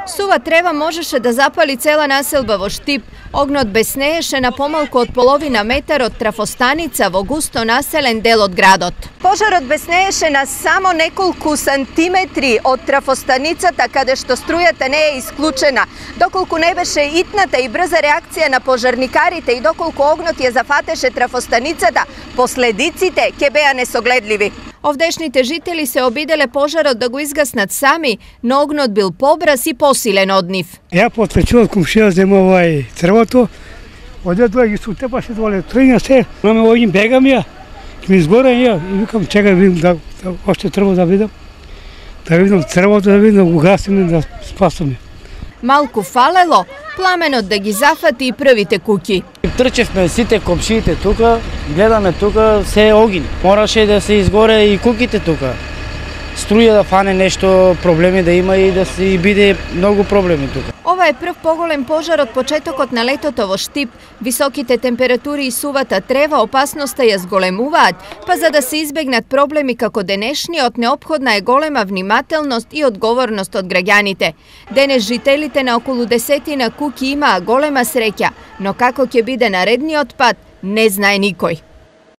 Сува трева можеше да запали цела населба во Штип. Огнот беснееше на помалку од половина метар од трафостаница во густо населен дел од градот. Пожарот беснееше на само неколку сантиметри од трафостаницата каде што струјата не е исклучена. Доколку не беше итната и брза реакција на пожарникарите и доколку огнот ја зафатеше трафостаницата, последиците ќе беа несогледливи. Овдешните жители се обиделе пожарот да го изгаснат сами, но огнот бил побрз и посилен од нив. Ја потврчував комшија зема црвото, одедоа ги сутепаше доле, тргна се, наме овим бегам ја, ми изгоре ја и викам чекај видам да още трво да видам црвото да видам да го гасиме да спасиме. Малку фалело пламенот да ги зафати и првите куќи. Трчевме сите комшиите тука, гледаме тука, се е огин. Мораше да се изгоре и куките тука. Струја да фане нешто, проблеми да има и да се биде многу проблеми тука. Ова е прв поголем пожар од почетокот на летото во Штип. Високите температури и сувата трева опасноста ја зголемуваат, па за да се избегнат проблеми како денешниот, неопходна е голема внимателност и одговорност од граѓаните. Денес жителите на околу 10 куќи имаа голема среќа, но како ќе биде наредниот пат, не знае никој.